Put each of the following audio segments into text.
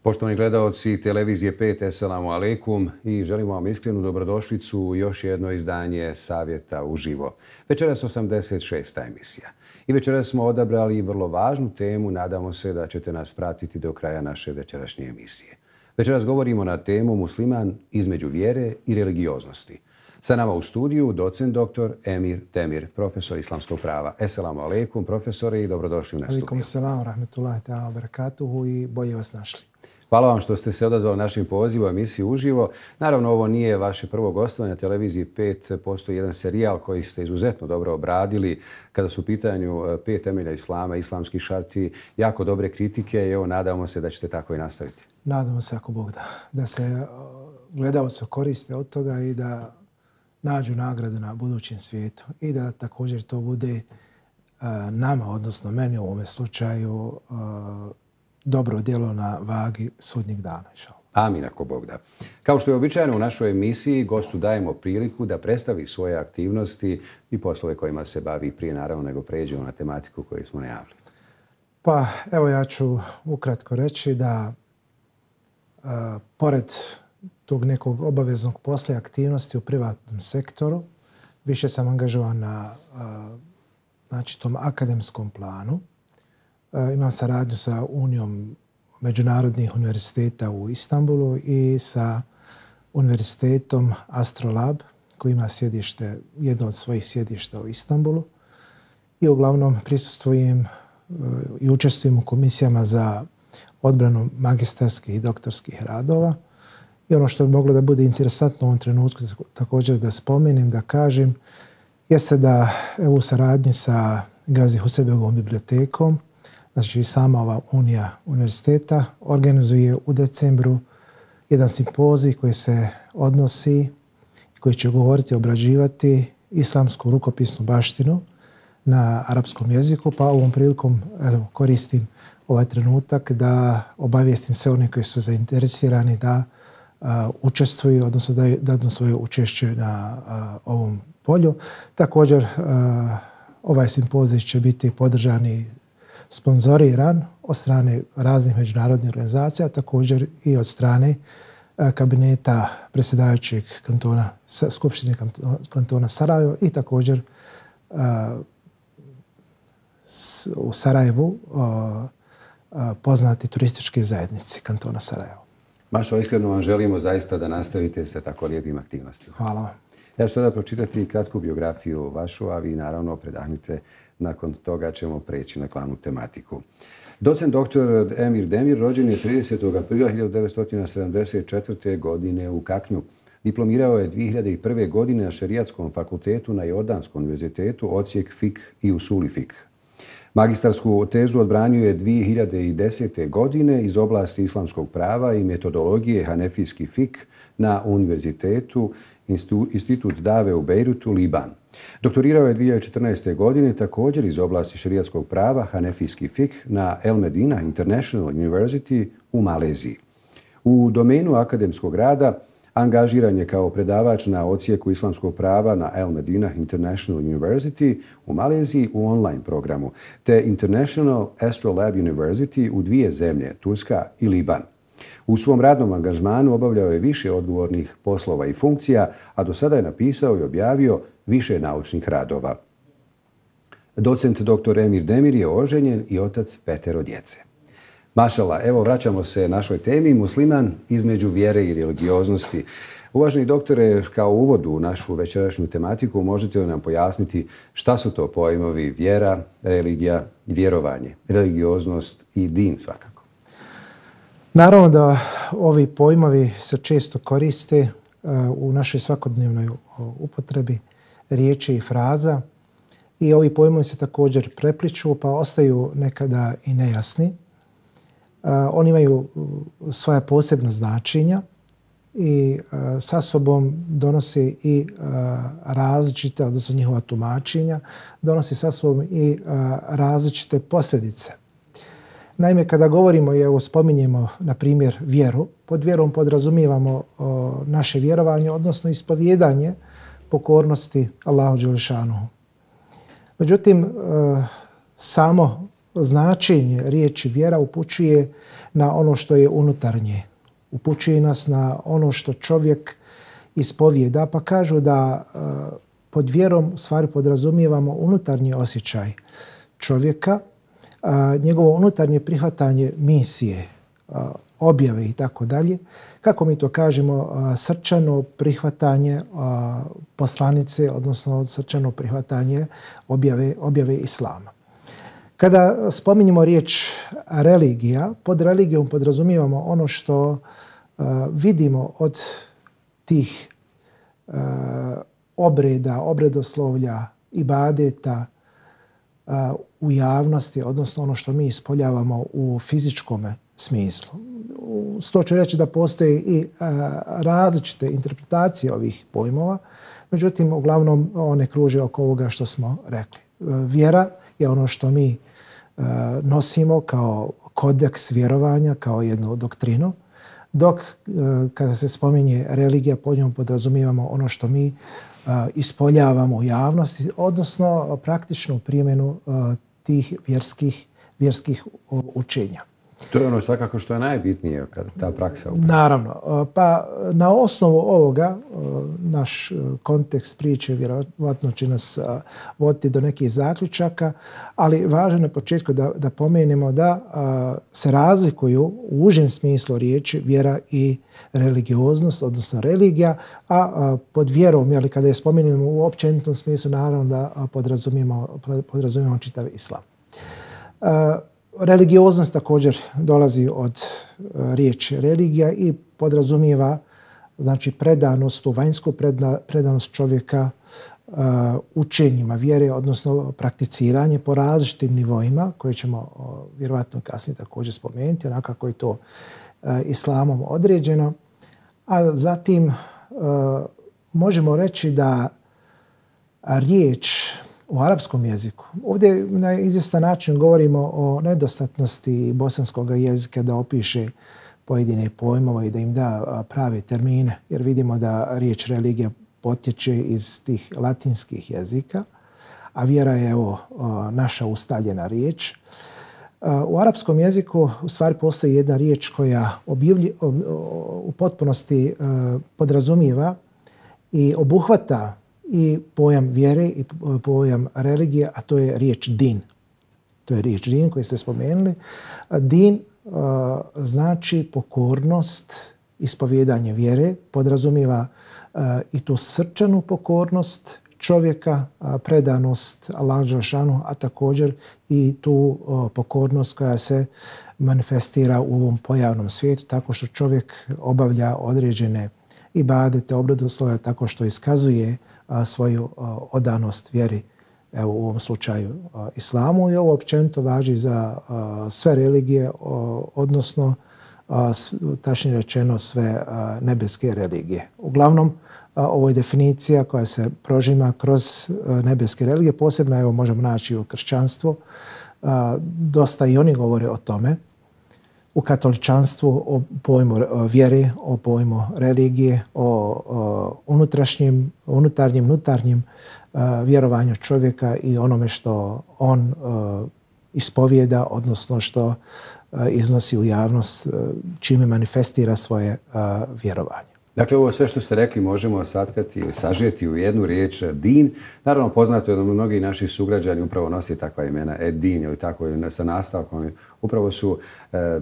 Poštovani gledaoci televizije 5, Esselamu alaikum i želimo vam iskrenu dobrodošlicu u još jedno izdanje Savjeta uživo. Večeras 86. emisija. I večeras smo odabrali vrlo važnu temu, nadamo se da ćete nas pratiti do kraja naše večerašnje emisije. Večeras govorimo na temu Musliman između vjere i religioznosti. Sa nama u studiju docent dr. Emir Demir, profesor islamskog prava. Esselamu alaikum, profesore, i dobrodošli na studiju. Alaikum salam, rahmetullahi ta'ala, barakatuhu i bolje vas našli. Hvala vam što ste se odazvali našim pozivom emisiju uživo. Naravno, ovo nije vaše prvo gostovanje na televiziji 5. Postoji jedan serijal koji ste izuzetno dobro obradili kada su u pitanju 5 temelja islama, islamski šarti, jako dobre kritike i evo, nadamo se da ćete tako i nastaviti. Nadamo se, ako Bog da se gledaoci koriste od toga i da nađu nagradu na budućem svijetu i da također to bude nama, odnosno meni u ovome slučaju, dobro djelo na vagi sudnjeg dana. Amin, ako Bog da. Kao što je običajno u našoj emisiji, gostu dajemo priliku da predstavi svoje aktivnosti i poslove kojima se bavi prije, naravno, nego pređemo na tematiku koju smo najavili. Pa evo, ja ću ukratko reći da pored tog nekog obaveznog posla aktivnosti u privatnom sektoru, više sam angažovan na tom akademskom planu. Imam saradnju sa Unijom međunarodnih univerziteta u Istanbulu i sa univerzitetom Astrolab, koji ima jedno od svojih sjedišta u Istanbulu. I uglavnom prisustvujem i učestvujem u komisijama za odbranu magistarskih i doktorskih radova. I ono što bi moglo da bude interesantno u ovom trenutku također da spomenem, da kažem, jeste da u saradnji sa Gazi Huseybegovom bibliotekom, znači sama ova Unija univerziteta, organizuje u decembru jedan simpozij koji se odnosi, koji će govoriti, obrađivati islamsku rukopisnu baštinu na arapskom jeziku, pa ovom prilikom koristim ovaj trenutak da obavijestim sve one koji su zainteresirani da učestvuju, odnosno da dadnu svoje učešće na ovom polju. Također, ovaj simpozij će biti podržani, sponzoriran od strane raznih međunarodnih organizacija, također i od strane kabineta predsjedavajućeg kantona, Skupštine kantona Sarajevo i također u Sarajevu poznati turističke zajednice kantona Sarajevo. Mašo, iskreno vam želimo zaista da nastavite sa tako lijepim aktivnostima. Hvala vam. Ja ću sada pročitati kratku biografiju vašu, a vi naravno predahnite. Nakon toga ćemo preći na glavnu tematiku. Docent dr. Emir Demir rođen je 30. aprila 1974. godine u Kaknju. Diplomirao je 2001. godine na Šerijatskom fakultetu na Jordanskom univerzitetu, odsjek Fik i Usuli Fik. Magistarsku tezu odbranio je 2010. godine iz oblasti islamskog prava i metodologije Hanefijski Fik na univerzitetu Institut Dave u Bejrutu, Liban. Doktorirao je 2014. godine također iz oblasti šerijatskog prava Hanefijski Fik na El Medina International University u Maleziji. U domenu akademskog rada angažiran je kao predavač na odsjeku islamskog prava na El Medina International University u Maleziji u online programu, te International Astrolabe University u 2 zemlje, Turska i Liban. U svom radnom angažmanu obavljao je više odgovornih poslova i funkcija, a do sada je napisao i objavio više naučnih radova. Docent dr. Emir Demir je oženjen i otac 5 djece. Mašala, evo vraćamo se našoj temi, musliman između vjere i religioznosti. Uvaženi doktore, kao uvod u našu večerašnju tematiku, možete li nam pojasniti šta su to pojmovi vjera, religija, vjerovanje, religioznost i din svakako? Naravno da ovi pojmovi se često koriste u našoj svakodnevnoj upotrebi riječi i fraza i ovi pojmovi se također prepliču pa ostaju nekada i nejasni. Oni imaju svoja posebna značenja i sa sobom donose i različite, odnosno njihova tumačenja, donose sa sobom i različite posljedice. Naime, kada govorimo i evo spominjemo, na primjer, vjeru, pod vjerom podrazumijevamo naše vjerovanje, odnosno ispovjedanje pokornosti Allahu dželešanuhu. Međutim, samo značenje riječi vjera upućuje na ono što je unutarnje. Upućuje nas na ono što čovjek ispovijeda, pa kažu da pod vjerom u stvari podrazumijevamo unutarnji osjećaj čovjeka, njegovo unutarnje prihvatanje misije, objave i tako dalje. Kako mi to kažemo, srčano prihvatanje poslanice, odnosno srčano prihvatanje objave islama. Kada spominjemo riječ religija, pod religijom podrazumijevamo ono što vidimo od tih obreda, obredoslovlja, ibadeta u javnosti, odnosno ono što mi ispoljavamo u fizičkom smislu. To ću reći da postoje i različite interpretacije ovih pojmova, međutim, uglavnom one kruže oko ovoga što smo rekli. Vjera je ono što mi nosimo kao kodeks vjerovanja, kao jednu doktrinu, dok kada se spominje religija, pod njom podrazumijevamo ono što mi ispoljavamo u javnosti, odnosno praktičnu primjenu tih vjerskih učenja. To je ono svakako što je najbitnije kada ta praksa upravo. Naravno. Pa na osnovu ovoga naš kontekst priče vjerovatno će nas voditi do nekih zaključaka, ali važno na početku da pomenemo da se razlikuju u užem smislu riječi vjera i religioznost, odnosno religija, a pod vjerom, jeli, kada je spomenemo u općenitom smislu, naravno da podrazumijemo čitav islam. Religioznost također dolazi od riječi religija i podrazumijeva, znači, predanost, vanjsku predanost čovjeka učenjima vjere, odnosno prakticiranje po različitim nivoima koje ćemo vjerovatno kasnije također spomenuti, onako kako je to islamom određeno. A zatim možemo reći da riječ u arapskom jeziku. Ovdje na izvjestan način govorimo o nedostatnosti bosanskog jezika da opiše pojedine pojmove i da im da prave termine, jer vidimo da riječ religija potječe iz tih latinskih jezika, a vjera je naša ustaljena riječ. U arapskom jeziku u stvari postoji jedna riječ koja u potpunosti podrazumijeva i obuhvata i pojam vjere i pojam religije, a to je riječ din. To je riječ din koju ste spomenuli. Din znači pokornost, ispovjedanje vjere, podrazumijeva i tu srčanu pokornost čovjeka, predanost Allahu dželešanu, a također i tu pokornost koja se manifestira u ovom pojavnom svijetu tako što čovjek obavlja određene ibadete, obredoslovlja, tako što iskazuje svoju odanost vjeri, evo u ovom slučaju islamu, i ovo općenito važi za sve religije, odnosno tačnije rečeno sve nebeske religije. Uglavnom, ovo je definicija koja se prožima kroz nebeske religije, posebno evo možemo naći u kršćanstvu. Dosta i oni govore o tome. U katoličanstvu o pojmu vjere, o pojmu religije, o unutarnjem vjerovanju čovjeka i onome što on ispovijeda, odnosno što iznosi u javnost, čime manifestira svoje vjerovanje. Dakle, ovo sve što ste rekli možemo sažeti u jednu riječ din. Naravno, poznato je da mnogi naši sugrađani upravo nosi takva imena, din ili tako sa nastavkom. Upravo su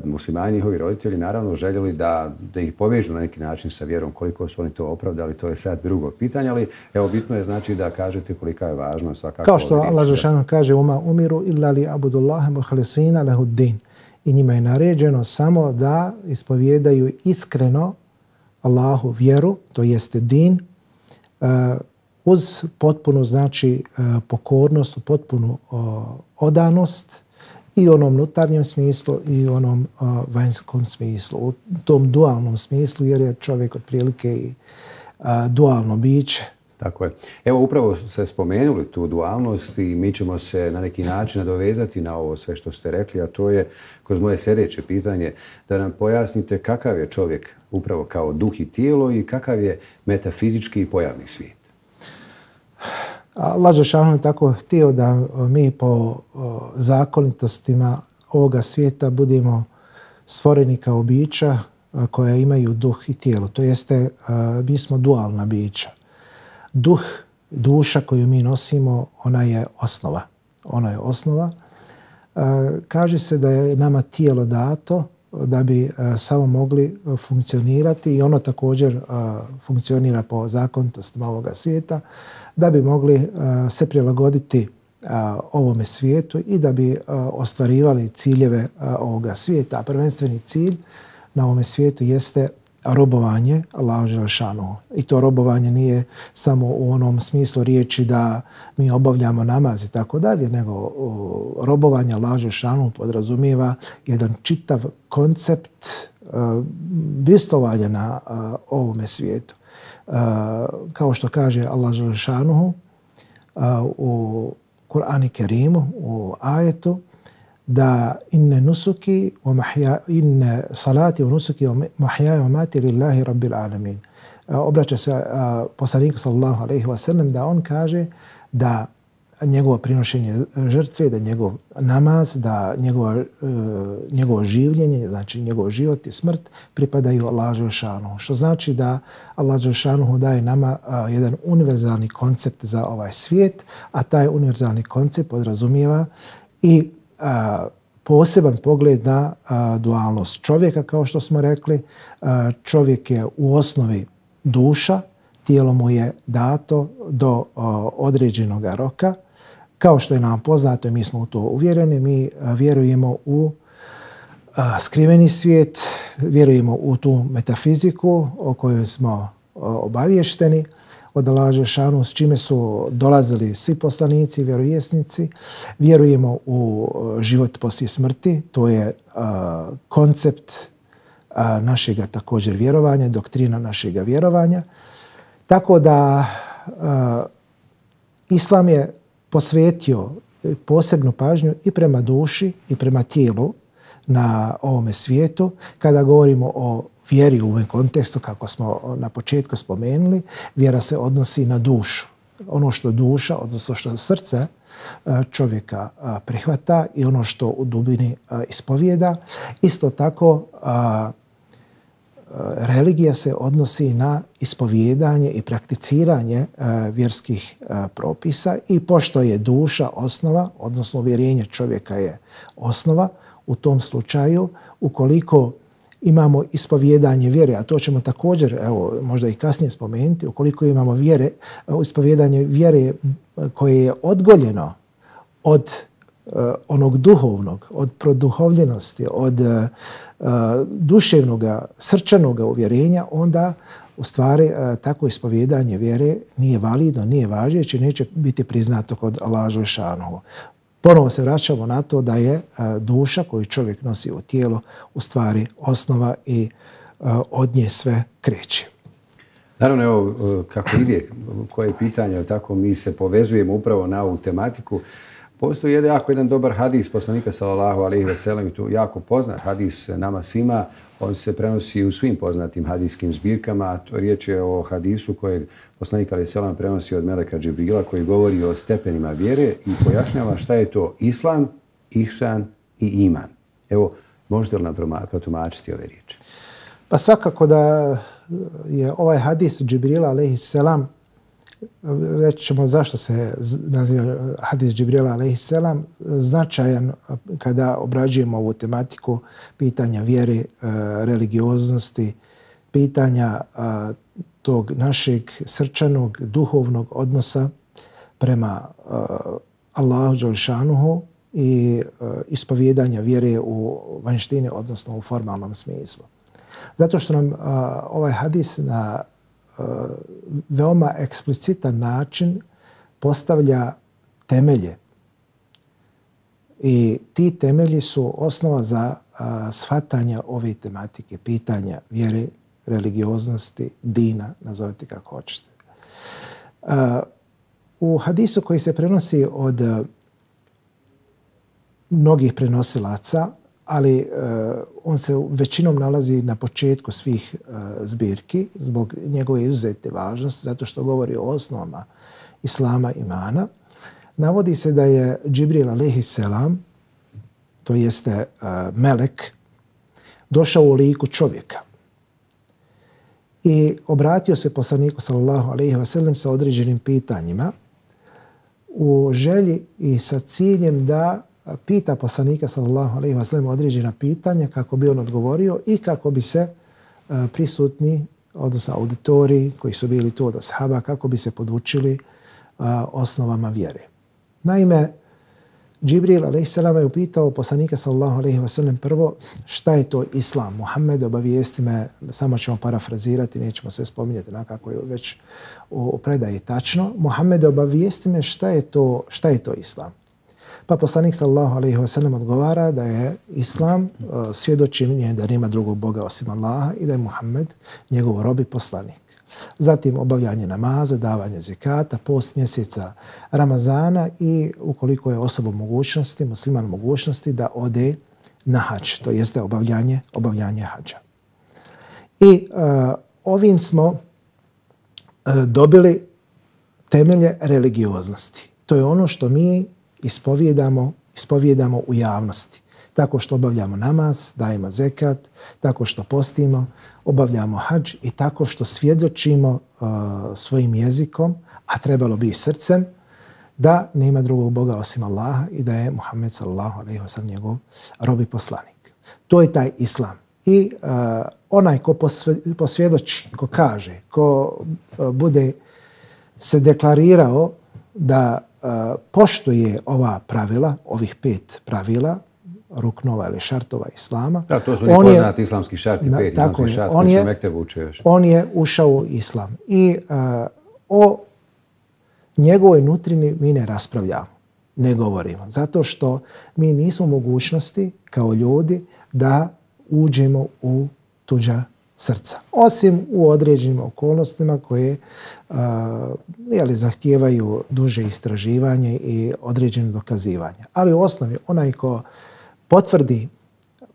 muslimani, njihovi roditelji, naravno željeli da ih povežu na neki način sa vjerom. Koliko su oni to opravdali, to je sad drugo pitanje, ali evo bitno je znači da kažete kolika je važno svakako. Kao što Allah dželešanu kaže: "Uma umiru illa li abudullaha mukhlisina lahu din." I njima je naređeno samo da ispovijedaju iskreno Allahu vjeru, to jeste din, uz potpunu, znači, pokornost, potpunu odanost i u onom unutarnjem smislu i u onom vanjskom smislu, u tom dualnom smislu, jer je čovjek otprilike i dualno biće. Tako je. Evo, upravo ste spomenuli tu dualnost i mi ćemo se na neki način nadovezati na ovo sve što ste rekli, a to je kroz moje sljedeće pitanje da nam pojasnite kakav je čovjek upravo kao duh i tijelo i kakav je metafizički i pojavni svijet. Allah dželešanu je tako htio da mi po zakonitostima ovoga svijeta budemo stvoreni kao bića koja imaju duh i tijelo. To jeste, mi smo dualna bića. Duh, duša koju mi nosimo, ona je osnova. Ona je osnova. Kaže se da je nama tijelo dato da bi samo mogli funkcionirati i ono također funkcionira po zakonitostima ovoga svijeta, da bi mogli se prilagoditi ovome svijetu i da bi ostvarivali ciljeve ovoga svijeta. A prvenstveni cilj na ovome svijetu jeste robovanje Allahu dželešanu. I to robovanje nije samo u onom smislu riječi da mi obavljamo namaz i tako dalje, nego robovanje Allahu dželešanu podrazumijeva jedan čitav koncept bivstvovanja na ovome svijetu. Kao što kaže Allah dželešanu u Kur'anu Kerimu, u ajetu, da inne nusuki inne salati wa nusuki wa mahyaja wa mamati lillahi rabbil alamin. Obraća se poslaniku sallallahu alejhi ve sellem da on kaže da njegovo prinošenje žrtve, da njegov namaz, da njegovo življenje, znači njegov život i smrt pripadaju Allahu dželešanu. Što znači da Allah dželešanu daje nama jedan univerzalni koncept za ovaj svijet, a taj univerzalni koncept podrazumijeva i poseban pogled na dualnost čovjeka, kao što smo rekli. Čovjek je u osnovi duša, tijelo mu je dato do određenog roka. Kao što je nam poznato i mi smo u to uvjereni, mi vjerujemo u skriveni svijet, vjerujemo u tu metafiziku o kojoj smo obavješteni od Allaha dželešanu, s čime su dolazili svi poslanici, vjerovjesnici. Vjerujemo u život poslije smrti, to je koncept našega također vjerovanja, doktrina našega vjerovanja. Tako da Islam je posvetio posebnu pažnju i prema duši i prema tijelu na ovome svijetu. Kada govorimo o vjeri u ovom kontekstu, kako smo na početku spomenuli, vjera se odnosi na dušu. Ono što duša, odnosno što srce čovjeka prihvata i ono što u dubini ispovijeda. Isto tako religija se odnosi na ispovijedanje i prakticiranje vjerskih propisa i pošto je duša osnova, odnosno uvjerenje čovjeka je osnova, u tom slučaju, ukoliko imamo ispovijedanje vjere, a to ćemo također, evo, možda i kasnije spomenuti, ukoliko imamo ispovijedanje vjere koje je odgoljeno od onog duhovnog, od produhovljenosti, od duševnog, srčanog uvjerenja, onda u stvari tako ispovijedanje vjere nije validno, nije važeće, neće biti priznato kod Allaha dželešanu. Ponovo se vraćamo na to da je duša koju čovjek nosi u tijelo u stvari osnova i od nje sve kreće. Naravno, evo, kako ide, koje pitanje, tako mi se povezujemo upravo na ovu tematiku. Postoji jedan dobar hadis poslanika sallallahu alejhi ve sellem, tu jako poznat hadis nama svima. On se prenosi u svim poznatim hadijskim zbirkama. To riječ je o hadisu kojeg poslanik alejhi ve sellem prenosi od meleka Džibrila, koji govori o stepenima vjere i pojašnjava šta je to islam, ihsan i iman. Evo, možete li nam protumačiti ove riječi? Pa svakako da je ovaj hadis Džibrila alejhi selam, reći ćemo zašto se naziva hadis Džibrila alejhi selam, značajan kada obrađujemo ovu tematiku pitanja vjere, religioznosti, pitanja tog našeg srčanog, duhovnog odnosa prema Allahu dželešanu i ispovijedanja vjere u vanjštini, odnosno u formalnom smislu. Zato što nam ovaj hadis na veoma eksplicitan način postavlja temelje. I ti temelji su osnova za shvatanje ove tematike, pitanja vjere, religioznosti, dina, nazovite kako hoćete. U hadisu koji se prenosi od mnogih prenosilaca, ali on se većinom nalazi na početku svih zbirki zbog njegove izuzetne važnosti, zato što govori o osnovama islama, imana. Navodi se da je Džibril alejhiselam, to jeste melek, došao u liku čovjeka i obratio se poslaniku sallallahu alejhi ve sellem sa određenim pitanjima u želji i sa ciljem da pita poslanika sallallahu alejhi ve sellem određena pitanja kako bi on odgovorio i kako bi se prisutni, odnosno auditoriji koji su bili tu od ashaba, kako bi se podučili osnovama vjere. Naime, Džibril alejhiselam je upitao poslanika sallallahu alejhi ve sellem prvo šta je to islam. Muhammed, obavijesti me, samo ćemo parafrazirati, nećemo sve spominjati kako je već u predaji tačno. Muhammed, obavijesti me šta je to islam. Pa poslanik sallallahu alejhi ve sellem odgovara da je islam svjedočenje da nema drugog Boga osim Allaha i da je Muhammed njegov rob i poslanik. Zatim obavljanje namaza, davanje zekata, post mjeseca Ramazana i ukoliko je osoba mogućnosti, musliman mogućnosti da ode na hadž, to jeste obavljanje hadža. I ovim smo dobili temelje religioznosti. To je ono što mi ispovijedamo u javnosti. Tako što obavljamo namaz, dajemo zekat, tako što postimo, obavljamo hadž i tako što svjedočimo svojim jezikom, a trebalo bi i srcem, da nema drugog Boga osim Allaha i da je Muhammed sallallahu alejhi ve sellem njegov rob i poslanik. To je taj islam. I onaj ko posvjedoči, ko kaže, ko bude se deklarirao da poštuje ova pravila, ovih 5 pravila, ruknova ili šartova islama. Da, to su oni poznati islamski šarti, 5 islamski šarti koji se mektebu uče još. On je ušao u islam i o njegovoj nutrini mi ne raspravljamo, ne govorimo. Zato što mi nismo mogućnosti kao ljudi da uđemo u tuđa srca. Osim u određenim okolnostima koje zahtijevaju duže istraživanje i određeno dokazivanje. Ali u osnovi onaj ko potvrdi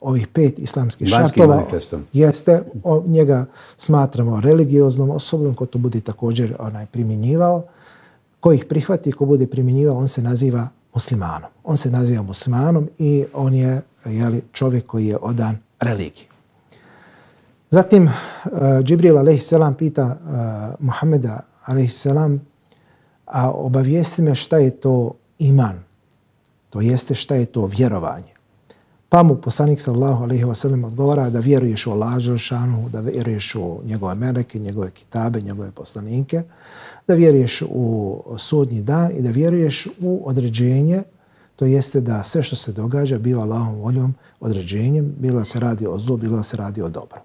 ovih 5 islamskih šartova jeste, njega smatramo religioznom osobom, ko to bude također primjenjivao. Ko ih prihvati, ko bude primjenjivao, on se naziva muslimanom. On se naziva muslimanom i on je čovjek koji je odan religiji. Zatim, Džibril alejhiselam pita Muhammeda alejhiselam, a obavijesti me šta je to iman, to jeste šta je to vjerovanje. Pa mu poslanik sallallahu alejhi ve sellem odgovara da vjeruješ u Allaha dželešanu, da vjeruješ u njegove meleke, njegove kitabe, njegove poslanike, da vjeruješ u sudnji dan i da vjeruješ u određenje, to jeste da sve što se događa biva Allahovom voljom, određenjem, bilo da se radi o zlu, bilo da se radi o dobru.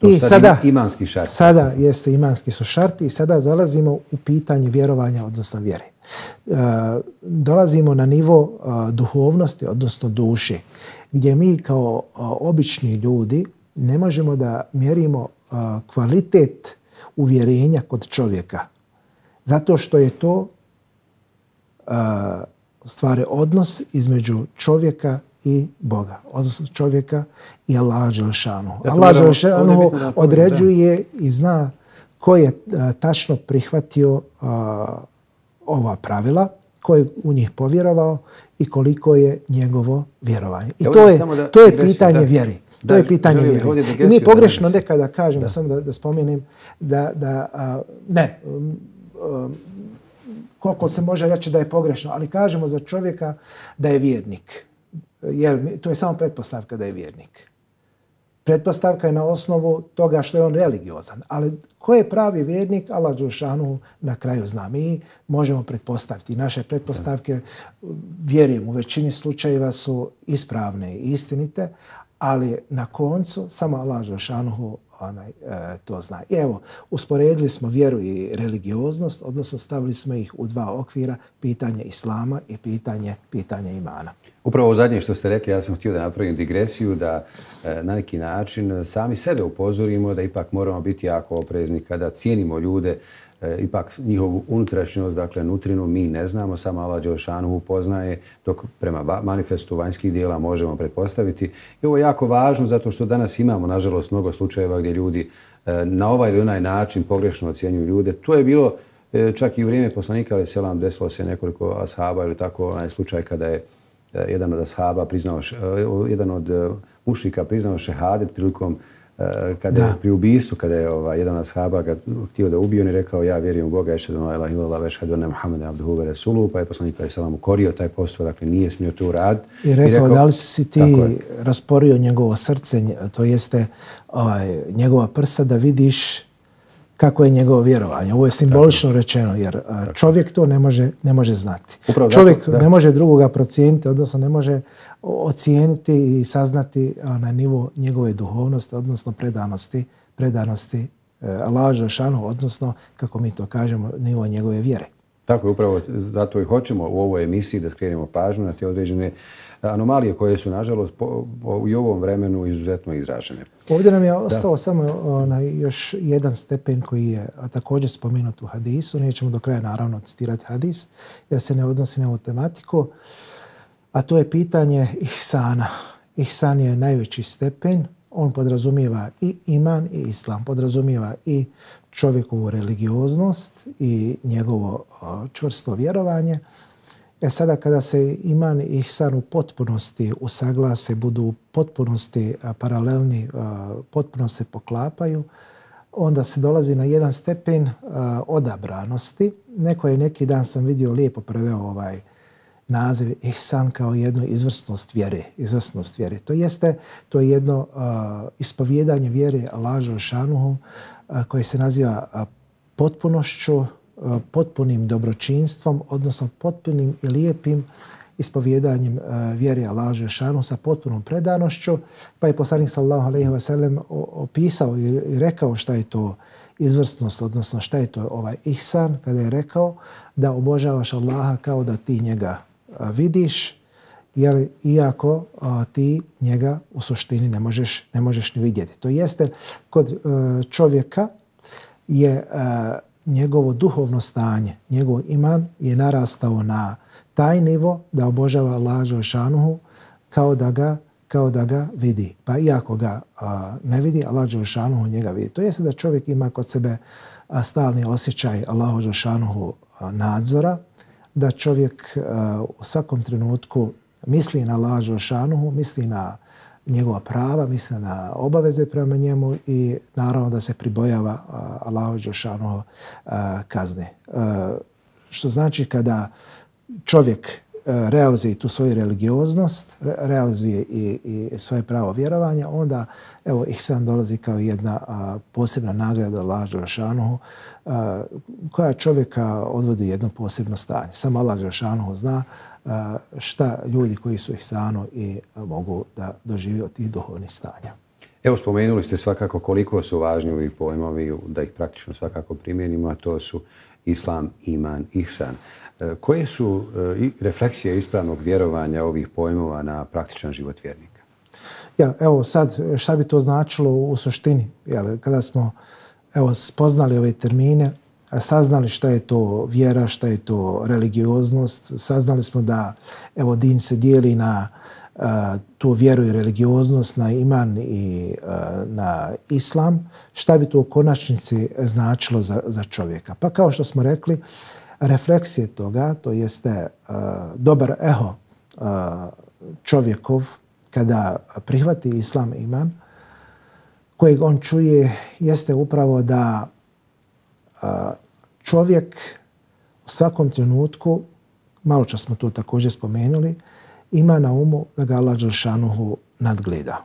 I sada imanski šarti. Sada jeste imanski su šarti i sada zalazimo u pitanje vjerovanja, odnosno vjere. Dolazimo na nivo duhovnosti, odnosno duše, gdje mi kao obični ljudi ne možemo da mjerimo kvalitet uvjerenja kod čovjeka. Zato što je to stvari odnos između čovjeka i Boga, odnosno čovjeka i Allaha dželešanu. Allah dželešanu određuje i zna ko je tačno prihvatio ova pravila, ko je u njih povjerovao i koliko je njegovo vjerovanje. I to je pitanje vjeri. To je pitanje vjeri. I mi pogrešno nekada kažemo, samo da spomenem, koliko se može reći da je pogrešno, ali kažemo za čovjeka da je vjernik. Jer to je samo pretpostavka da je vjernik. Pretpostavka je na osnovu toga što je on religiozan. Ali ko je pravi vjernik, Allah dželešanu na kraju zna. Mi možemo pretpostaviti. Naše pretpostavke, vjerujem, u većini slučajeva su ispravne i istinite, ali na koncu samo Allah dželešanu to zna. I evo, usporedili smo vjeru i religioznost, odnosno stavili smo ih u 2 okvira, pitanje islama i pitanje imana. Upravo zadnje što ste rekli, ja sam htio da napravim digresiju, da na neki način sami sebe upozorimo da ipak moramo biti jako oprezni kada cijenimo ljude, ipak njihovu unutrašnjost, dakle nutrinu mi ne znamo, samo Allah dželešanu poznaje, dok prema manifestu vanjskih dijela možemo pretpostaviti. I ovo je jako važno zato što danas imamo, nažalost, mnogo slučajeva gdje ljudi na ovaj ili onaj način pogrešno ocjenjuju ljude. To je bilo Čak i u vrijeme poslanika alejhi selam desilo se nekoliko ashaba ili tako onaj slučaj kada je jedan od ashaba priznao, jedan od mušrika priznao šehadet prilikom kada je pri ubistvu, kada je jedan od ashaba ga htio da ubije, on je rekao ja vjerujem u Boga, ešhedu an la ilaha illallah ve ešhedu enne Muhammeden abduhu ve resuluhu, pa je poslanik alejhi selam ukorio taj postupak, dakle nije smio to uraditi. I rekao da li si ti rasporio njegovo srce, to jeste njegova prsa da vidiš kako je njegovo vjerovanje. Ovo je simbolično rečeno, jer čovjek to ne može znati. Upravo čovjek ne može drugoga procijeniti, odnosno ne može ocijeniti i saznati na nivo njegove duhovnosti, odnosno predanosti Allahu dželešanu, odnosno, kako mi to kažemo, nivo njegove vjere. Tako je, upravo zato i hoćemo u ovoj emisiji da skrenemo pažnju na te određene anomalije koje su, nažalost, i u ovom vremenu izuzetno izražene. Ovdje nam je ostao samo još jedan stepen koji je također spomenut u hadisu. Nećemo do kraja, naravno, citirati hadis, jer se ne odnosi na ovu tematiku. A to je pitanje ihsana. Ihsan je najveći stepen. On podrazumijeva i iman i islam. Podrazumijeva i čovjekovu religioznost i njegovo čvrsto vjerovanje. Sada kada se iman i ihsan u potpunosti usaglase, budu u potpunosti paralelni, potpuno se poklapaju, onda se dolazi na jedan stepen odabranosti. Neki dan sam vidio lijepo preveo naziv ihsan kao jednu izvrsnost vjere. To je jedno ispovjedanje vjere Allahu dželešanuhu koje se naziva potpunošću, potpunim dobročinstvom, odnosno potpunim i lijepim ispovjedanjem vjere Allahu dželešanuhu sa potpunom predanošću. Pa je poslanik sallallahu alejhi ve sellem opisao i rekao šta je to izvrsnost, odnosno šta je to ihsan, kada je rekao da obožavaš Allaha kao da ti njega vidiš, jer iako ti njega u suštini ne možeš ni vidjeti. To jeste, kod čovjeka je njegovo duhovno stanje, njegov iman je narastao na taj nivo da obožava Allaha dželešanuhu kao da ga vidi. Pa iako ga ne vidi, Allah dželešanuhu njega vidi. To jeste da čovjek ima kod sebe stalni osjećaj Allahu dželešanuhu nadzora, da čovjek u svakom trenutku misli na Allaha dželešanuhu, misli na njegova prava, misli na obaveze prema njemu i naravno da se pribojava Allahu dželešanuhu kazne. Što znači kada čovjek realizuje tu svoju religioznost, realizuje i svoje pravo vjerovanja, onda evo ihsan dolazi kao jedna posebna nagrada Allaha dželešanuhu koja čovjeka odvodi u jedno posebno stanje. Samo Allah dželešanuhu zna šta ljudi koji su ihsanu i mogu da dožive od tih duhovnih stanja. Evo, spomenuli ste svakako koliko su važni ovi pojmovi, da ih praktično svakako primijenimo, a to su islam, iman, ihsan. Koje su refleksije ispravnog vjerovanja ovih pojmova na praktičan život vjernika? Evo sad, šta bi to značilo u suštini? Kada smo spoznali ove termine, saznali šta je to vjera, šta je to religioznost, saznali smo da din se dijeli na tu vjeru i religioznost, na iman i na islam. Šta bi to u konačnici značilo za čovjeka? Pa kao što smo rekli, refleksije toga, to jeste dobar eho čovjekov kada prihvati islam i iman, kojeg on čuje, jeste upravo da čovjek u svakom trenutku, malo čas smo to također spomenuli, ima na umu da ga Allah dželešanuhu nadgleda.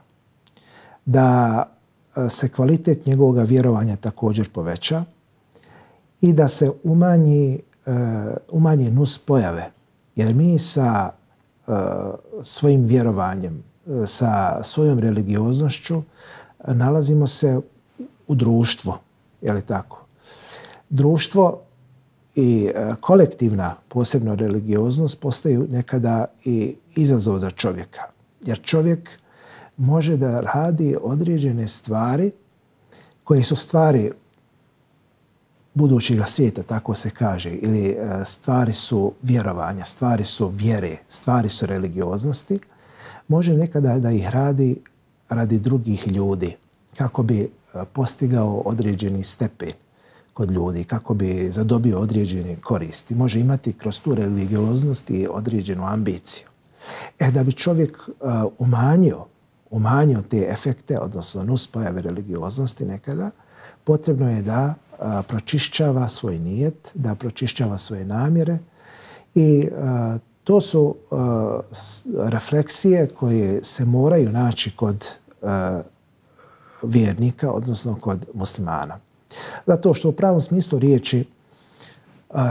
Da se kvalitet njegovog vjerovanja također poveća i da se umanji nus pojave. Jer mi sa svojim vjerovanjem, sa svojom religioznošću nalazimo se u društvu. Je li tako? Društvo i kolektivna, posebno religioznost, postaju nekada i izazov za čovjeka. Jer čovjek može da radi određene stvari koje su stvari budućega svijeta, tako se kaže, ili stvari su vjerovanja, stvari su vjere, stvari su religioznosti, može nekada da ih radi drugih ljudi kako bi postigao određeni stepen kod ljudi, kako bi zadobio određene koristi. Može imati kroz tu religioznost i određenu ambiciju. Da bi čovjek umanjio te efekte, odnosno nuspojave religioznosti nekada, potrebno je da pročišćava svoj nijet, da pročišćava svoje namjere i to su refleksije koje se moraju naći kod vjernika, odnosno kod muslimana. Zato što u pravom smislu riječi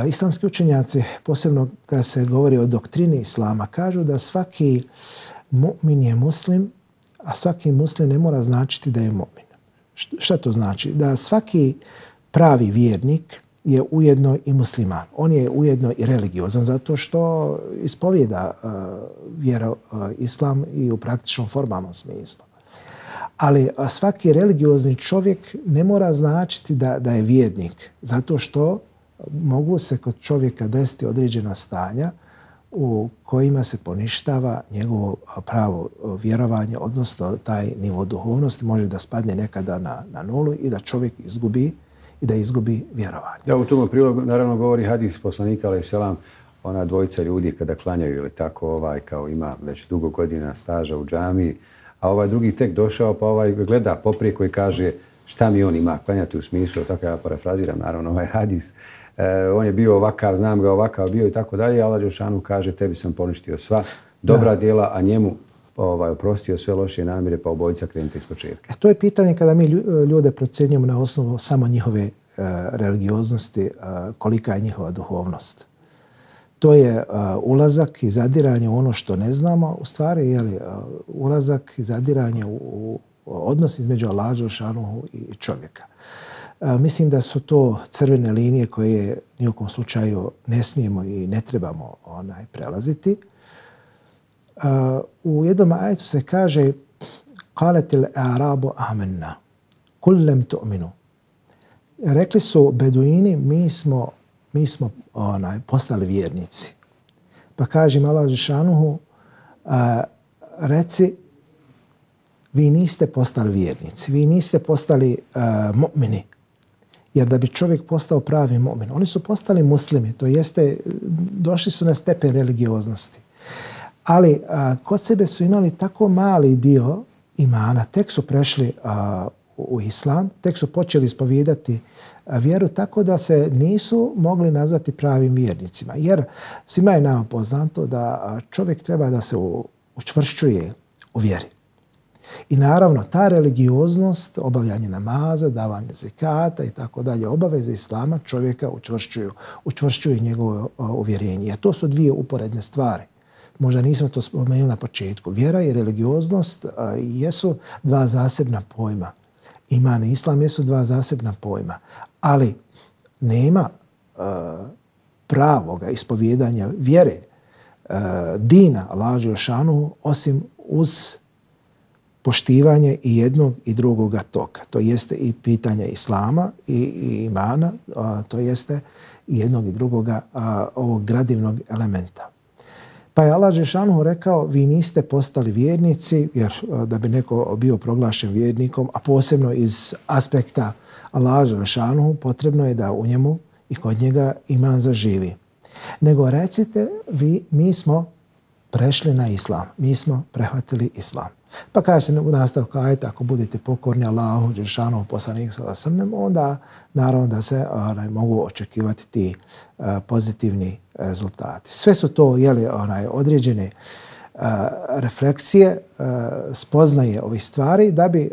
islamski učenjaci, posebno kada se govori o doktrini islama, kažu da svaki mu'min je muslim, a svaki muslim ne mora značiti da je mu'min. Šta to znači? Da svaki pravi vjernik je ujedno i musliman. On je ujedno i religiozan zato što ispovijeda vjera islam i u praktičnom formalnom smislu. Ali svaki religiozni čovjek ne mora značiti da je vjernik zato što mogu se kod čovjeka desiti određena stanja u kojima se poništava njegovo pravo vjerovanje, odnosno taj nivo duhovnosti može da spadne nekada na nulu i da čovjek izgubi vjerovanje. Da, u tom prilogu naravno govori hadis poslanika alejhi selam, ona dvojica ljudi kada klanjaju ili tako kao ima već dugo godina staža u džamiji, a ovaj drugi tek došao pa gleda poprijeko i kaže šta mi on ima klanjati u smislu, tako ja parafraziram naravno ovaj hadis. On je bio ovakav, znam ga ovakav bio i tako dalje, Allah dželešanu kaže tebi sam poništio sva dobra djela, a njemu oprostio sve loše namjere, pa obojica krenite iz početka. To je pitanje kada mi ljude procjenjujemo na osnovu samo njihove religioznosti, kolika je njihova duhovnost. To je ulazak i zadiranje u ono što ne znamo, u stvari ulazak i zadiranje u odnos između Allaha dželešanu i čovjeka. Mislim da su to crvene linije koje ni u kom slučaju ne smijemo i ne trebamo prelaziti. U jednom ajetu se kaže قالت الأعراب آمنا قل لم تؤمنوا. Rekli su beduini mi smo postali vjernici. Pa kaže Allah dželešanu reci vi niste postali vjernici, vi niste postali mu'mini. Jer da bi čovjek postao pravi mu'min, oni su postali muslimi, to jeste došli su na stepen religioznosti. Ali kod sebe su imali tako mali dio imana, tek su prešli u islam, tek su počeli ispovijedati vjeru tako da se nisu mogli nazvati pravim vjernicima. Jer svima je nama poznato da čovjek treba da se učvršćuje u vjeri. I naravno, ta religioznost, obavljanje namaza, davanje zekata i tako dalje, obaveze islama čovjeka učvršćuju njegovo uvjerenje. Jer to su dvije uporedne stvari. Možda nismo to spomenuli na početku. Vjera i religioznost jesu dva zasebna pojma. Iman i islam jesu dva zasebna pojma. Ali nema pravoga ispovjedanja vjere, dina Allaha dželešanu osim uz poštivanje i jednog i drugoga toka. To jeste i pitanje islama i imana, to jeste i jednog i drugoga ovog gradivnog elementa. Pa je Allah dželešanu rekao vi niste postali vjernici, jer da bi neko bio proglašen vjernikom, a posebno iz aspekta Allaha dželešanu, potrebno je da u njemu i kod njega iman zaživi. Nego recite mi smo prešli na islam, mi smo prehvatili islam. Pa kaže se u nastavku ajeta, ako budete pokorni Allahu dželešanu poslaniku sallallahu alejhi ve sellem, onda naravno da se mogu očekivati ti pozitivni rezultati. Sve su to određene refleksije, spoznaje ovih stvari da bi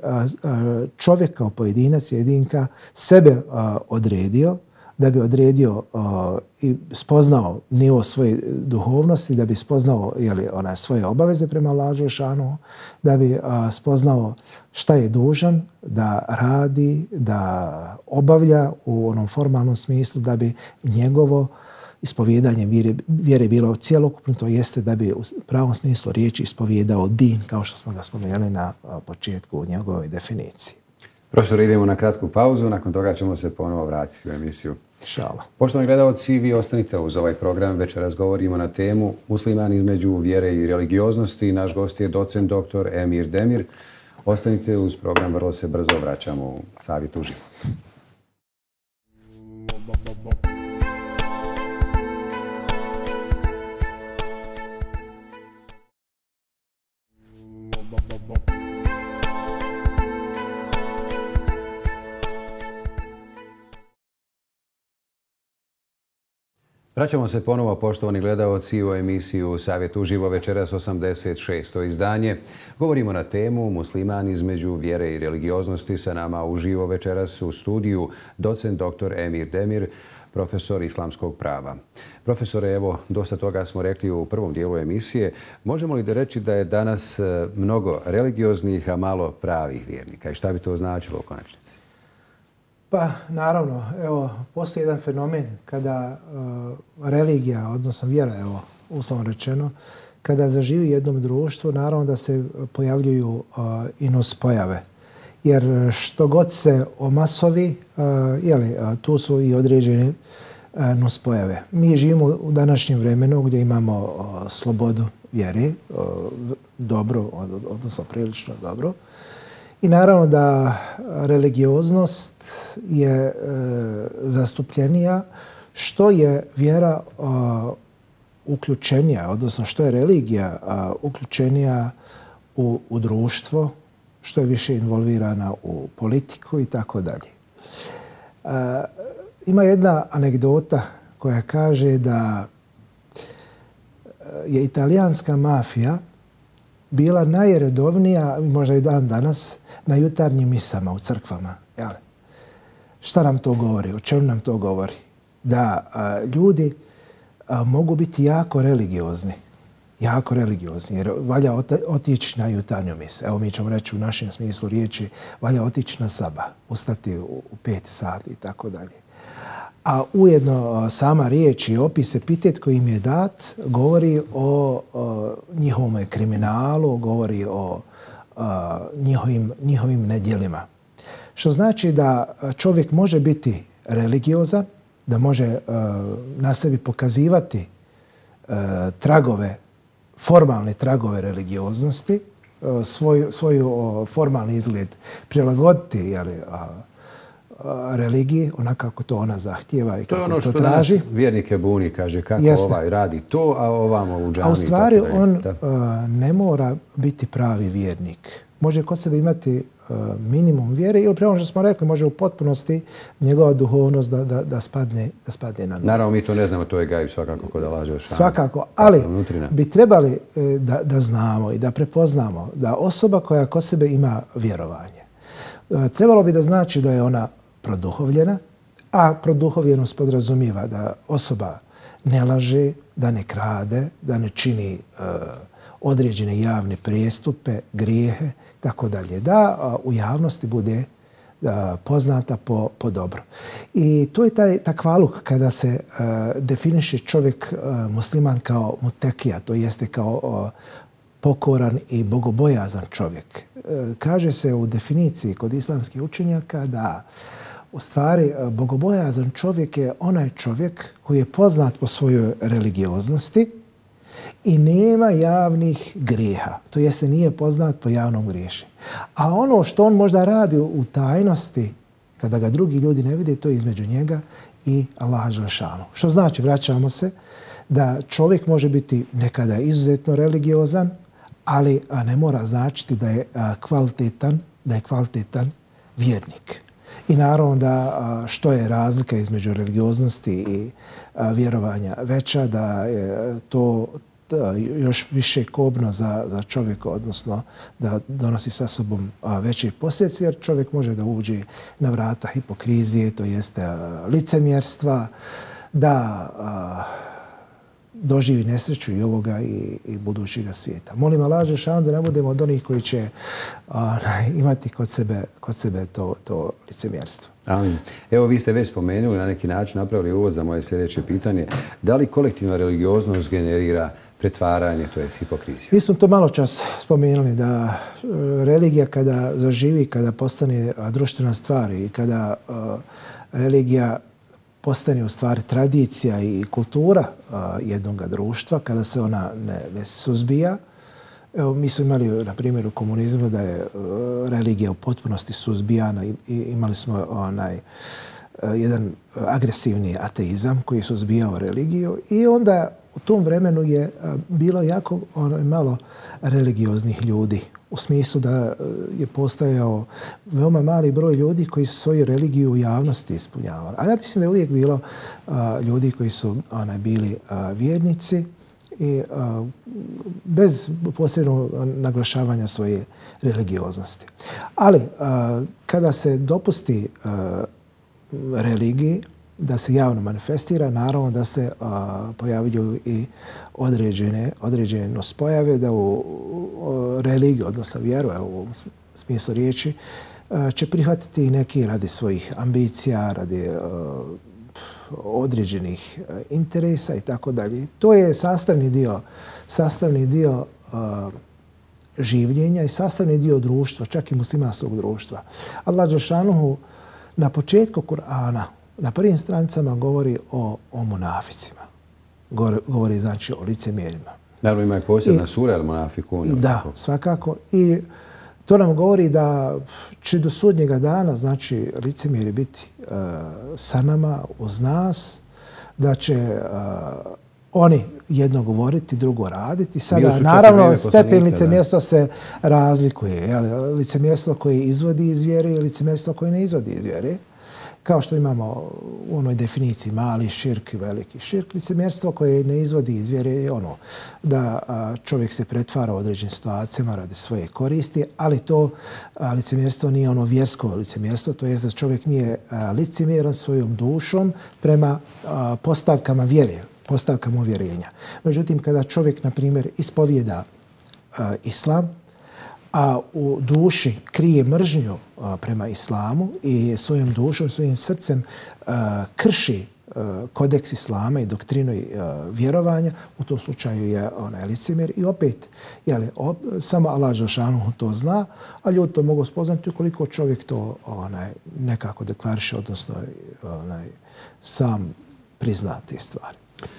čovjek kao pojedinac, jedinka sebe odredio, da bi odredio i spoznao nivo svoje duhovnosti, da bi spoznao svoje obaveze prema Allahu dželešanu, da bi spoznao šta je dužan da radi, da obavlja u onom formalnom smislu, da bi njegovo ispovjedanje vjere bilo cjelokupno, to jeste da bi u pravom smislu riječi ispovjedao din, kao što smo ga spomenuli na početku u njegovoj definiciji. Profesor, idemo na kratku pauzu, nakon toga ćemo se ponovo vratiti u emisiju. Inšallah. Poštovani gledalci, vi ostanite uz ovaj program. Večeras govorimo na temu musliman između vjere i religioznosti. Naš gost je docent dr. Emir Demir. Ostanite uz program, vrlo se brzo vraćamo u Savjet uživo. Vraćamo se ponovo, poštovani gledaoci, u emisiju Savjet uživo, večeras 86. izdanje. Govorimo na temu Musliman između vjere i religioznosti. Sa nama uživo večeras u studiju docent dr. Emir Demir, profesor islamskog prava. Profesore, evo, dosta toga smo rekli u prvom dijelu emisije. Možemo li da reći da je danas mnogo religioznih, a malo pravih vjernika? I šta bi to značilo u konačnici? Pa, naravno, evo, postoji jedan fenomen kada religija, odnosno vjera, evo, uslovno rečeno, kada zaživi jednom društvu, naravno da se pojavljuju i nuspojave. Jer što god se omasovi, tu su i određene nuspojave. Mi živimo u današnjem vremenu gdje imamo slobodu vjere, dobro, odnosno prilično dobro. I naravno da religioznost je zastupljenija, što je vjera uključenija, odnosno što je religija uključenija u društvo, što je više involvirana u politiku i tako dalje. Ima jedna anegdota koja kaže da je italijanska mafija bila najredovnija, možda i dan danas, na jutarnjim misama u crkvama. Šta nam to govori? O čemu nam to govori? Da ljudi mogu biti jako religiozni. Jako religiozni, jer valja otići na jutarnju misu. Evo, mi ćemo reći u našem smislu riječi, valja otići na sabah, ustati u 5 sati i tako dalje. A ujedno sama riječ i opis, epitet koji im je dat, govori o njihovom kriminalu, govori o njihovim nedjelima. Što znači da čovjek može biti religiozan, da može na sebi pokazivati formalne tragove religioznosti, svoj formalni izgled prilagoditi religiji, onako kako to ona zahtijeva i kako to traži. To je ono što nas vjernike buni, kaže kako ovaj radi to, a ovamo u džami. A u stvari on ne mora biti pravi vjernik. Može kod sebe imati minimum vjere ili prema što smo rekli, može u potpunosti njegova duhovnost da spadne na nju. Naravno, mi to ne znamo, to je gajb svakako kod laže. Svakako, ali bi trebali da znamo i da prepoznamo da osoba koja kod sebe ima vjerovanje, trebalo bi da znači da je ona produhovljena, a produhovljenost podrazumijeva da osoba ne laže, da ne krade, da ne čini određene javne prijestupe, grijehe, tako dalje. Da u javnosti bude poznata po dobro. I to je taj takvaluk kada se definiše čovjek musliman kao mutekija, to jeste kao pokoran i bogobojazan čovjek. Kaže se u definiciji kod islamskih učenjaka da u stvari bogobojazan čovjek je onaj čovjek koji je poznat po svojoj religioznosti i nema javnih grijeha. To jeste nije poznat po javnom griješenju. A ono što on možda radi u tajnosti, kada ga drugi ljudi ne vide, to je između njega i Allaha dželešanu. Što znači, vraćamo se, da čovjek može biti nekada izuzetno religiozan, ali ne mora značiti da je kvalitetan vjernik. I naravno da što je razlika između religioznosti i vjerovanja veća, da je to još više kobno za čovjeka, odnosno da donosi sa sobom veće posljedice, jer čovjek može da uđe na vrata hipokrizije, to jeste licemjerstva, da doživi nesreću i ovoga i budućega svijeta. Molim Allaha dželešanu da ne budemo od onih koji će imati kod sebe to licemjerstvo. Amin. Evo, vi ste već spomenuli, na neki način napravili uvod za moje sljedeće pitanje. Da li kolektivna religioznost generira pretvaranje, to je hipokriziju? Mi smo to malo čas spomenuli da religija kada zaživi, kada postane društvena stvar i kada religija postane u stvari tradicija i kultura jednog društva, kada se ona ne suzbija. Evo, mi smo imali, na primjer, u komunizmu da je religija u potpunosti suzbijana i imali smo jedan agresivni ateizam koji je suzbijao religiju i onda u tom vremenu je bilo jako malo religioznih ljudi u smislu da je postojao veoma mali broj ljudi koji su svoju religiju u javnosti ispunjavali. A ja mislim da je uvijek bilo ljudi koji su bili vjernici i bez posebnog naglašavanja svoje religioznosti. Ali kada se dopusti religiji da se javno manifestira, naravno da se pojavljuju i određene nuspojave da u religiju, odnosno vjeru, u ovom smislu riječi, će prihvatiti i neki radi svojih ambicija, radi određenih interesa i tako dalje. To je sastavni dio življenja i sastavni dio društva, čak i muslimanskog društva. Allah dželšanuhu na početku Kur'ana, na prvim stranicama govori o munaficima. Govori znači o licemjerima. Naravno ima i posebna sura El Munafikun. Da, svakako. I to nam govori da će do sudnjega dana, znači, licemjeri biti sa nama, uz nas, da će oni jedno govoriti, drugo raditi. Sada, naravno, stepen licemjerstva se razlikuje. Licemjerstvo koje izvodi iz vjere i licemjerstvo koje ne izvodi iz vjere. Kao što imamo u onoj definiciji mali širk i veliki širk, licemjerstvo koje ne izvodi iz vjere je ono da čovjek se pretvara u određenim situacijama radi svoje koristi, ali to licemjerstvo nije ono vjersko licemjerstvo, to je da čovjek nije licemjeran svojom dušom prema postavkama vjere, postavkama uvjerenja. Međutim, kada čovjek, na primjer, ispovijeda islam, a u duši krije mržnju prema islamu i svojom dušom, svojim srcem krši kodeks islama i doktrinu vjerovanja, u tom slučaju je licemjer. I opet, samo Allah dželšanuhu to zna, a ljudi to mogu spoznati ukoliko čovjek to nekako deklariše, odnosno sam prizna te stvari.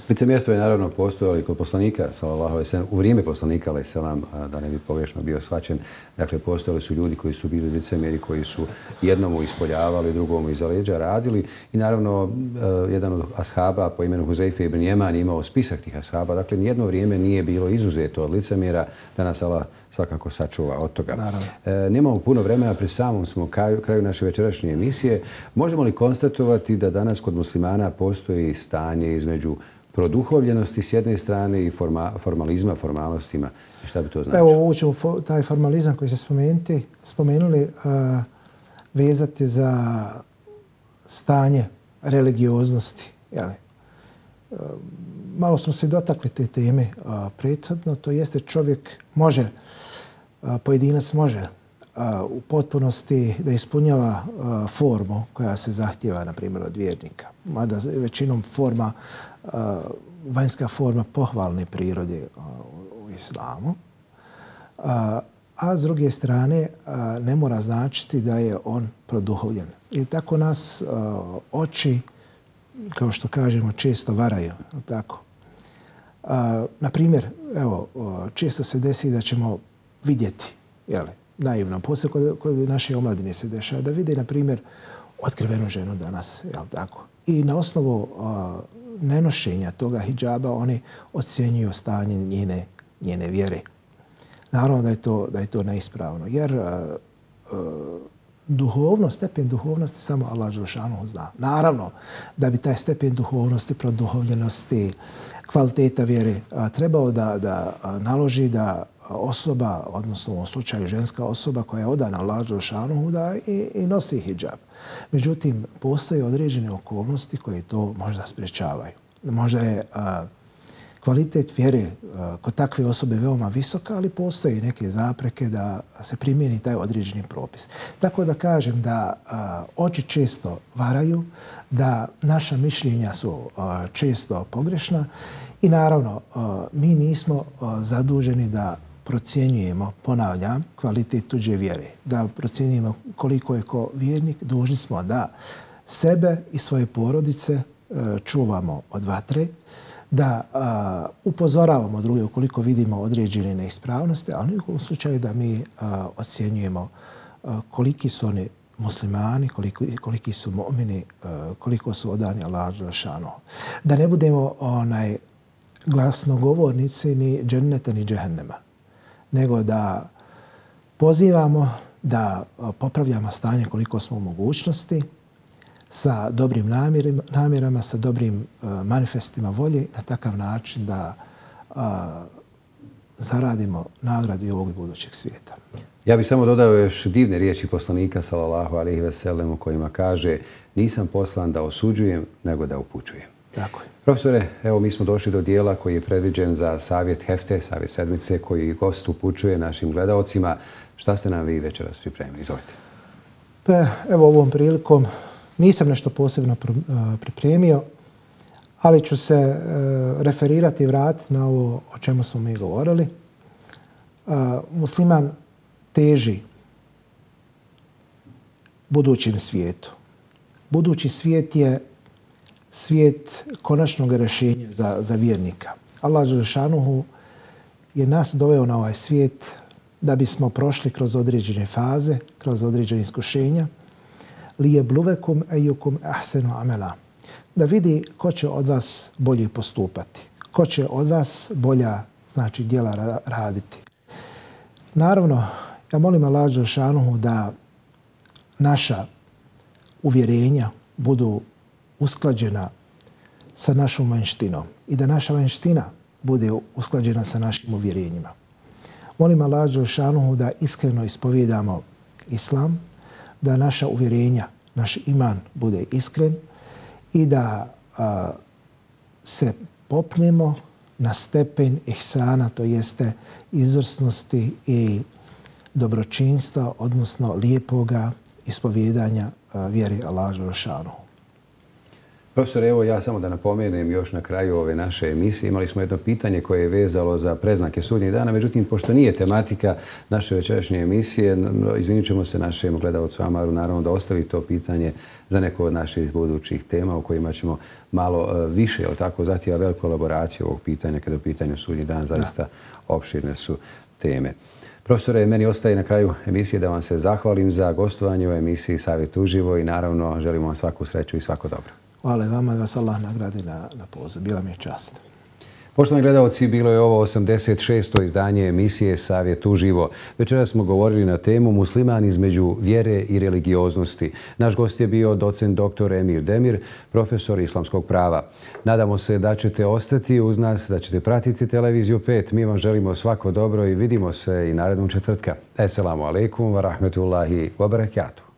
Licemjerstvo je naravno postojalo i kod poslanika, sallallahu alejhi ve sellem, u vrijeme poslanika, alejhi selam, da ne bi pogrešno bio shvaćen. Dakle, postojali su ljudi koji su bili licemjeri, koji su jednomu ispoljavali, drugomu iza leđa radili. I naravno, jedan od ashaba po imenu Huzeife ibn Jeman imao spisak tih ashaba. Dakle, nijedno vrijeme nije bilo izuzeto od licemjera, da nas Allah svakako sačuva od toga. Nemamo puno vremena, pri samom smo kraju naše večerašnje emisije. Možemo li konstatovati da danas kod muslimana postoji stanje između produhovljenosti s jedne strane i formalizma, formalnostima? Šta bi to značilo? Evo, ovo ćemo taj formalizam koji ste spomenuli vezati za stanje religioznosti. Malo smo se dotakli te teme prethodno. To jeste čovjek može, pojedinac može u potpunosti da ispunjava formu koja se zahtjeva, na primjer, od vjernika. Mada većinom vanjska forma pohvalne prirode u islamu. A s druge strane ne mora značiti da je on produhovljen. I tako nas oči, kao što kažemo, često varaju. Tako. Na primjer, evo, često se desi da ćemo vidjeti, naivno, poslije kod naše omladine se dešava, da vide, na primjer, otkrivenu ženu danas, tako. I na osnovu nenošenja toga hidžaba oni ocjenjuju stanje njene vjere. Naravno da je to neispravno, jer stepen duhovnosti samo Allah dželšanuhu zna. Naravno da bi taj stepen duhovnosti, produhovljenosti, kvaliteta vjere trebao da naloži da osoba, odnosno u ovom slučaju ženska osoba koja je odana Allah dželšanuhu, da i nosi hidžab. Međutim, postoje određene okolnosti koje to možda sprečavaju. Možda je kvalitet vjere kod takve osobe veoma visoka, ali postoje i neke zapreke da se primijeni taj određeni propis. Tako da kažem da oči često varaju, da naša mišljenja su često pogrešna i naravno mi nismo zaduženi da procjenjujemo, ponavljam, kvalitet tuđe vjere. Da procjenjujemo koliko je ko vjernik, dužni smo da sebe i svoje porodice čuvamo od vatre, da upozoravamo druge ukoliko vidimo određene neispravnosti, ali u slučaju da mi ocjenjujemo koliki su oni muslimani, koliki su mu'mini, koliko su odani Allahu dželšanuhu. Da ne budemo glasnogovornici ni dženneta ni džehennema, nego da pozivamo da popravljamo stanje koliko smo u mogućnosti, sa dobrim namjerama, sa dobrim manifestima volje, na takav način da zaradimo nagradu i ovog i budućeg svijeta. Ja bih samo dodao još divne riječi poslanika sallallahu alejhi ve sellem u kojima kaže: nisam poslan da osuđujem, nego da upućujem. Tako je. Profesore, evo mi smo došli do dijela koji je predviđen za savjet hefte, savjet sedmice, koji gost upućuje našim gledaocima. Šta ste nam vi večeras pripremili? Izvolite. Pa, evo ovom prilikom nisam nešto posebno pripremio, ali ću se referirati i vratiti na ovo o čemu smo mi govorili. Musliman teži budućem svijetu. Budući svijet je svijet konačnog rješenja za vjernika. Allah dželešanuhu je nas doveo na ovaj svijet da bismo prošli kroz određene faze, kroz određene iskušenja. Lijebluvekum ejukum ahsenu amela. Da vidi ko će od vas bolje postupati. Ko će od vas bolja djela raditi. Naravno, ja molim Allah dželešanuhu da naša uvjerenja budu usklađena sa našom vanjštinom i da naša vanjština bude usklađena sa našim uvjerenjima. Molim Allah dželešanuhu da iskreno ispovijedamo islam, da naša uvjerenja, naš iman bude iskren i da se popnemo na stepen ihsana, to jeste izvrsnosti i dobročinstva, odnosno lijepoga ispovijedanja vjeri Allah dželešanuhu. Profesor, evo ja samo da napomenem još na kraju ove naše emisije. Imali smo jedno pitanje koje je vezalo za preznake sudnjeg dana. Međutim, pošto nije tematika naše večerašnje emisije, izvinit ćemo se našem gledalcu Amaru, naravno da ostavi to pitanje za neko od naših budućih tema u kojima ćemo malo više, zahtijeva veliku elaboraciju ovog pitanja kada je u pitanju sudnji dan. Zaista opširne su teme. Profesore, meni ostaje na kraju emisije da vam se zahvalim za gostovanje u emisiji Savjet uživo i naravno želimo vam svaku sreću i svako dobro. Hvala vama da vas Allah nagradi na poziv. Bila mi je čast. Poštovani gledalci, bilo je ovo 86. izdanje emisije Savjet uživo. Večeras smo govorili na temu Musliman između vjere i religioznosti. Naš gost je bio docent dr. Emir Demir, profesor islamskog prava. Nadamo se da ćete ostati uz nas, da ćete pratiti Televiziju 5. Mi vam želimo svako dobro i vidimo se i narednog četvrtka. Esselamu alaikum wa rahmetullahi wa barakatuh.